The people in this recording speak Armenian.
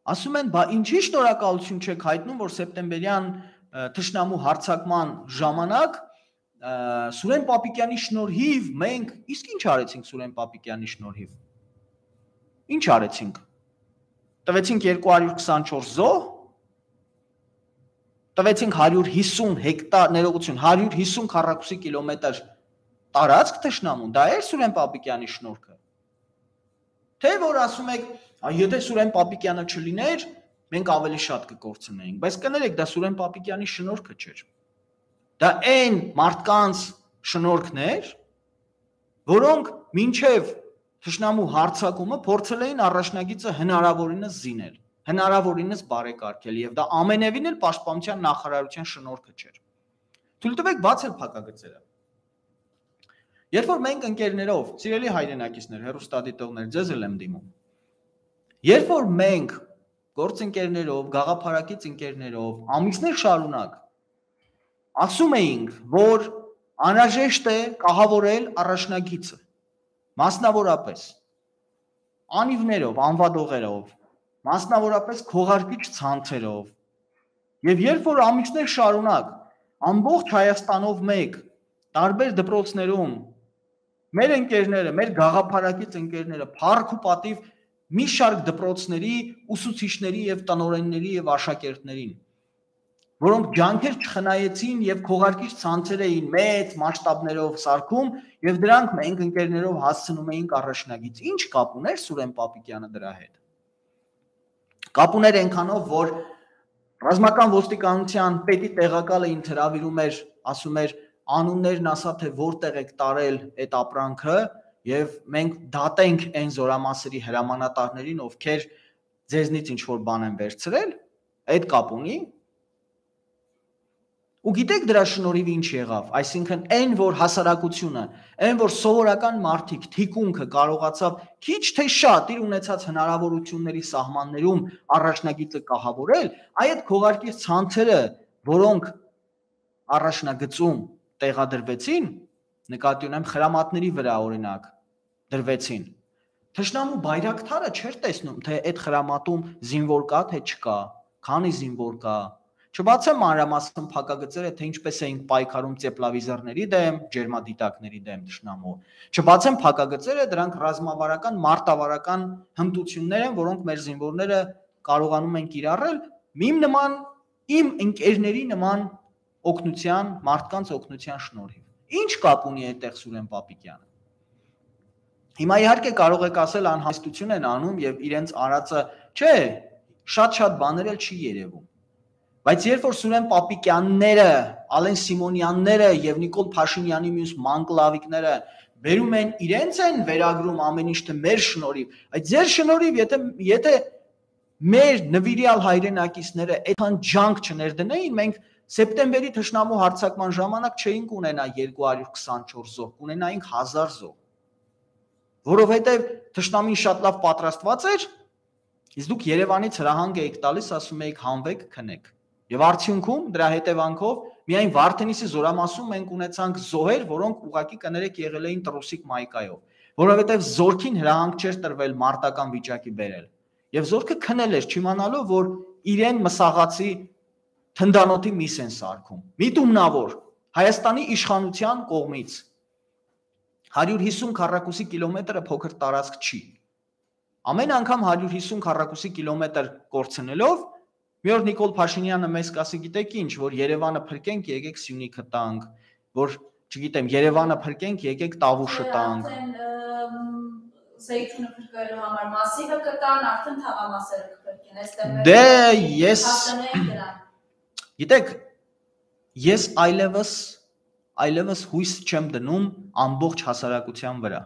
Ասում են, բա ինչի շնորհակալություն չեք հայտնում, որ սեպտեմբերյան թշնամու հարձակման ժամանակ Սուրեն Պապիկյանի շնորհիվ մենք իսկ ինչ արեցինք Սուրեն Պապիկյանի շնորհիվ։ Ինչ արեցինք։ Տվեցինք 224 զոհ, տվեցինք 150 հեկտար ներողություն, 150 քառակուսի կիլոմետր տարածք թշնամուն, դա էր Սուրեն Պապիկյանի շնորհքը։ Թե որ ասում եք, եթե Սուրեն Պապիկյանը չլիներ, մենք ավելի շատ կկորցնեինք, բայց կներեք, դա Սուրեն Պապիկյանի շնորհքը չէր։ Դա այն մարդկանց շնորհքն էր, որոնք մինչև թշնամու հարձակումը փորձել էին առաջնագիծը հնարավորինս զինել, հնարավորինս բարեկարգել, եւ դա ամենևին էլ պաշտպանության նախարարության շնորհքը չէր։ Թույլ տվեք բացել փակագծերը։ Երբ որ մենք ընկերներով, սիրելի հայրենակիցներ, հեռուստադիտողներ, ձեզ էլ եմ դիմում։ Երբ որ մենք գործընկերներով, գաղափարակից ընկերներով ամիսներ շարունակ ասում էինք, որ անհրաժեշտ է կահավորել առաջնագիծը, մասնավորապես անիվներով, անվադողերով, մասնավորապես քողարկիչ ցանցերով, եւ երբ որ ամիսներ շարունակ ամբողջ Հայաստանով մեկ տարբեր դպրոցներում մեր ընկերները, մեր գաղափարակից ընկերները փառք ու պատիվ մի շարք դպրոցների ուսուցիչների եւ տնօրենների եւ աշակերտներին, որոնք ջանքեր չխնայեցին եւ քողարկիչ ցանցեր էին մեծ մասշտաբներով սարքում եւ դրանք մենք ընկերներով հասցնում էինք առաջնագիծ։ Ինչ կապ ուներ Սուրեն Պապիկյանը դրա հետ։ Կապ ուներ այնքանով, որ ռազմական ոստիկանության պետի տեղակալը ինձ հրավիրում էր, ասում էր անուններն ասա թե որտեղ եք տարել այդ ապրանքը եւ մենք դատենք այն զորամասերի հրամանատարներին, ովքեր ձեզնից ինչ որ բան են վերցրել, այդ կապ ունի։ Ու գիտեք դրա շնորհիվ ինչ եղավ, այսինքն այն որ հասարակությունը, այն որ սովորական մարդիկ թիկունքը կարողացավ քիչ թե շատ իր ունեցած հնարավորությունների սահմաններում առաջնագիծը կահավորել, այդ քողարկիչ ցանցերը, որոնք առաջնագծում տեղադրվեցին, նկատի ունեմ խրամատների վրա օրինակ դրվեցին։ Թշնամու բայրակթարը չէր տեսնում, թե այդ խրամատում զինվոր կա, թե չկա, քանի զինվոր կա։ Չբացեմ մանրամասն փակագծերը, թե ինչպես էինք պայքարում տեպլավիզորների դեմ, ջերմադիտակների դեմ թշնամու։ Չբացեմ փակագծերը, դրանք ռազմավարական, մարտավարական հմտություններ են, որոնք մեր զինվորները կարողանում են կիրառել իմ ընկերների նման օգնության, մարդկանց օգնության շնորհիվ։ Ինչ կապ ունի այդտեղ Սուրեն Պապիկյանը։ Հիմա իհարկե կարող եք ասել անհաստություն են անում եւ իրենց արածը, չէ, շատ բաներ էլ չի երևում։ Բայց երբ որ Սուրեն Պապիկյանները, Ալեն Սիմոնյանները եւ Նիկոլ Փաշինյանի մյուս մանկլավիկները բերում են իրենց են վերագրում ամեն ինչ թե մեր շնորհիվ, այդ ձեր շնորհիվ, եթե մեր նվիրյալ հայրենակիցները այդքան ջանք չներդնեին, մենք սեպտեմբերի թշնամու հարձակման ժամանակ չէինք ունենա 224 զոհ, կունենայինք 1000 զոհ։ Որովհետեւ թշնամին շատ լավ պատրաստված էր, իսկ դուք Երևանից հրահանգ էիք տալիս, ասում էիք հանվեք, քնեք։ Եվ արդյունքում դրա հետևանքով միայն Վարդենիսի զորամասում մենք ունեցանք զոհեր, որոնք ուղղակի կներեք եղել էին տրուսիկ մայկայով, որովհետև զորքին հրահանգ չէր տրվել մարտական վիճակի բերել։ Եվ զորքը քնել էր, չիմանալով, որ իրեն մսաղացի թնդանոթի միս են սարքում։ Միտումնավոր Հայաստանի իշխանության կողմից 150 քառակուսի կիլոմետրը փոքր տարածք չի։ Ամեն անգամ 150 քառակուսի կիլոմետր կորցնելով մի օր Նիկոլ Փաշինյանը մեզ կասի, գիտեք ինչ, որ Երևանը փրկենք, եկեք Սյունիքը տանք, որ չգիտեմ, Երևանը փրկենք, եկեք Տավուշը տանք։ Սեյթունը փրկելու համար մասիվը կտան, արդեն թաղամասերը կփրկեն, այստեղ դե ես գիտեք, ես այլևս հույս չեմ դնում ամբողջ հասարակության վրա։